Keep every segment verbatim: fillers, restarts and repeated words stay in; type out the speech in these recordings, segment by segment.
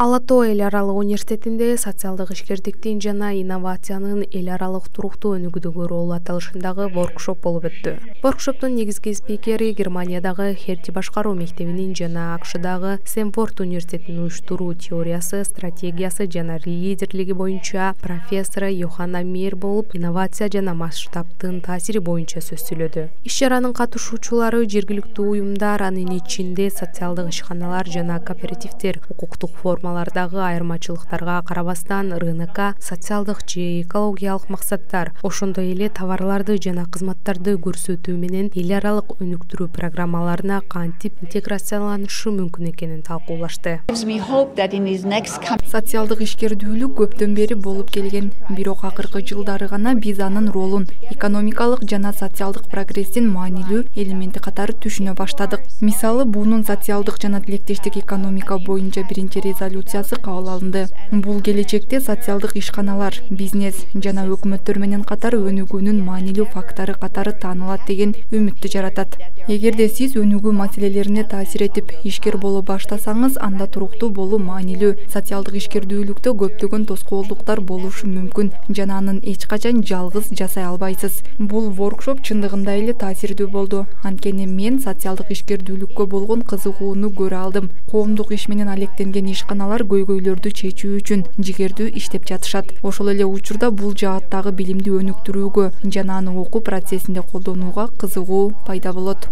Ала Тоо эл аралык университетинде социалдык ишкердиктин жана инновациянын эл аралык туруктуу өнүгүүдөгү ролу аталышындагы воркшоп болуп өттү. Воркшоптун негизги спикери Германиядагы Херти башкаруу мектебинин жана АКШдагы Стэнфорд университетинин уюштуруу теориясы, стратегиясы жана лидерлиги боюнча профессор Йоханна Мейер болуп, инновация жана масштабтын таасири боюнча сөз сүйлөдү. Иш-чаранын катышуучулары жергиликтүү уюмдар, анын ичинде социалдык ишканалар жана кооперативдер укуктук форма дагы айырмачылыктарга карабастан рынокко социалдык же экологиялык максаттар, ошондой эле товарларды жана кызматтарды көрсөтүү менен эл аралык өнүктүрүү программаларына кантип интеграцияланышы мүмкүн экенин талкуулашты. Социалдык ишкердүүлүк көптөн бери болуп келген, бирок акыркы жылдары гана биз анын ролун экономикалык жана социалдык прогресстин маанилүү элементи катары түшүнө баштадык. Мисалы, буунун социалдык жана тилектештик экономика боюнча биринчи резолюциясы кабыл алынды. Бул келечекте социалдык ишканалар, бизнес жана өкмөттөр менен катар өнүгүүнүн маанилүү фактору катары таанылат деген үмүттү жаратат. Эгерде сиз өнүгүү маселелерине таасир этип ишкер боло баштасаңыз, анда туруктуу болуу маанилүү. Социалдык ишкердүүлүктө көптөгөн тоскоолдуктар болушу мүмкүн жана анын эч качан жалгыз жасай албайсыз. Бул воркшоп чындыгында эле таасирдүү болду. Анткени мен социалдык ишкердүүлүккө болгон кызыгууну көрө алдым. Коомдук иш менен алектенген ишканалар көйгөйлөрдү чечүү үчүн жигердүү иштеп жатышат. Ошол эле учурда бул жааттагы билимди өнүктүрүүгө жана аны окуу процессинде колдонууга кызыгуу пайда болот.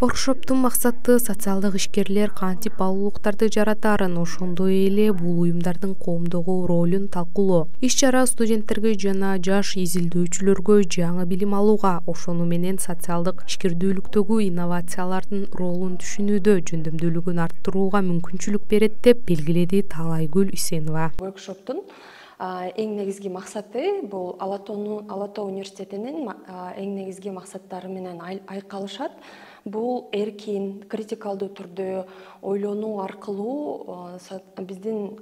Воркшоптун максаты социалдык ишкерлер кантип баалуулуктарды жаратарын, ошондой эле бул уюмдардын коомдогу ролун талкуулоо. Иш-чара студенттерге жана жаш изилдөөчүлөргө жаңы билим алууга, ошону менен социалдык ишкердүүлүктөгү инновациялардын ролун түшүнүүдө жөндөмдүүлүгүн арттырууга мүмкүнчүлүк берет деп белгиледи Талайгүл Үсенова. Воркшоптун эң негизги максаты бул Ала Тоо университетинин эң негизги максаттары менен айкалышат. Бул эркин, критикалдуу түрдө ойлонуу аркылуу биздин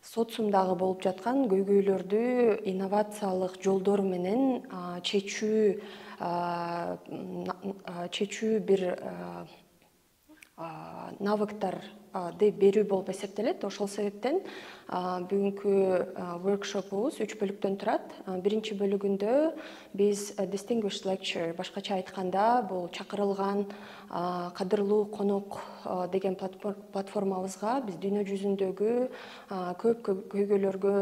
социумдагы болуп жаткан көйгөйлөрдү инновациялык жолдор менен чечүү чечүү бир навыктарды берүү болуп эсептелет. Ошол себептен бүгүнкү воркшопубуз үч бөлүктөн турат. Биринчи бөлүгүндө биз distinguished lecture, башкача айтканда бул чакырылган кадырлуу конок деген платформабызга биз дүйнө жүзүндөгү көп көйгөйлөргө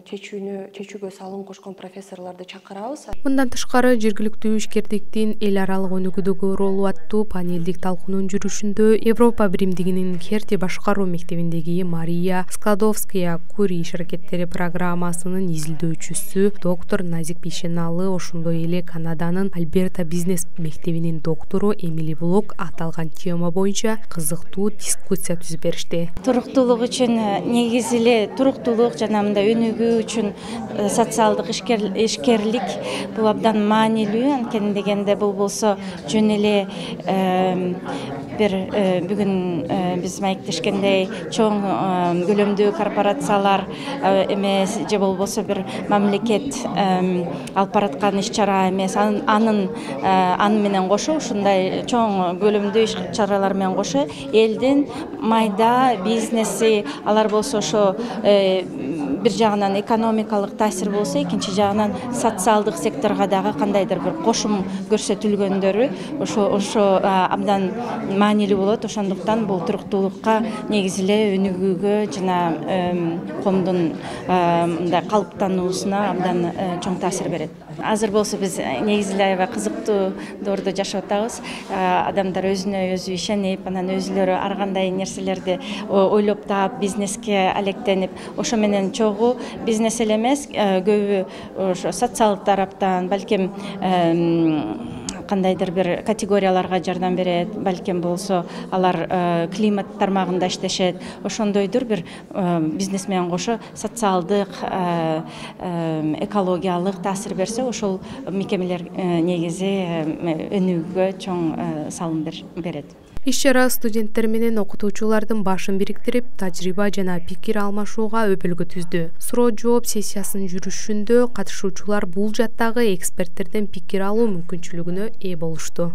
чечүүнү чечүүгө салым кошкон профессорлорду чакырабыз. Мындан тышкары жергиликтүү ишкердиктин эл аралык өнүгүүдөгү ролу аттуу панелдик талкуунун жүрүшүндө Европа биримдигинин Херти башкаруу мектебиндеги Мария Складовская Кури иш аракеттери программасынын изилдөөчүсү доктор Назик Бишеналы, ошондой эле Канаданын Альберта бизнес мектебинин доктору Эмили Блок аталган тема боюнча кызыктуу дискуссия түзүп беришти. Туруктуулук үчүн негизи эле туруктуулук жана мындай өнүгүү үчүн социалдык ишкерлик бул абдан маанилүү. Анткени дегенде бул болсо жөн эле бир бүгүн биз маектешкендей чоң көлөмдүү корпорациялар эмес же болбосо бир мамлекет алып бараткан иш-чара эмес, анын аны менен кошо ушундай чоң көлөмдүү иш-чаралар менен кошо элдин майда бизнеси, алар болсо ошо бир жагынан экономикалык таасир болсо, экинчи жагынан социалдык секторго дагы кандайдыр бир кошум көрсөтүлгөндөрү ошо ошо абдан маанилүү болот. Ошондуктан бул туруктуулукка негизи эле өнүгүүгө жана коомдун мындай калыптануусуна абдан чоң таасир берет. Азыр болсо биз негизи эле аябай кызыктуу доордо жашап атабыз. Адамдар өзүнө өзү ишенип, анан өзүлөрү ар кандай нерселерди ойлоп таап, бизнеске алектенип, ошо менен чогуу бизнес эле эмес, көбү ошо социалдык тараптан, балким кандайдыр бир категорияларга жардам берет, балким болсо алар климат тармагында иштешет. Ошондойдур бир бизнес менен кошо социалдык, экологиялык таасир берсе, ошол мекемелер негизи өнүгүүгө чоң салым берет. Иш-чара студенттер менен окутуучулардын башын бириктирип, тажрыйба жана пикир алмашууга өбөлгө түздү. Суроо жооп сессиясынын жүрүшүндө катышуучулар бул жаттагы эксперттерден пикир алуу мүмкүнчүлүгүнө ээ болушту.